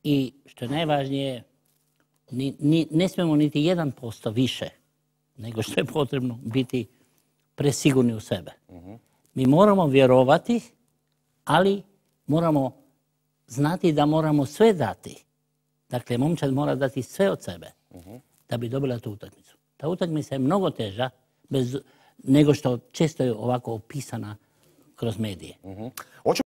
I što je najvažnije, ne smijemo niti 1% više nego što je potrebno biti presigurni u sebe. Mi moramo vjerovati, ali moramo znati da moramo sve dati. Dakle, momčad mora dati sve od sebe da bi dobila tu utakmicu. Ta utakmica je mnogo teža nego što često je ovako opisana kroz medije.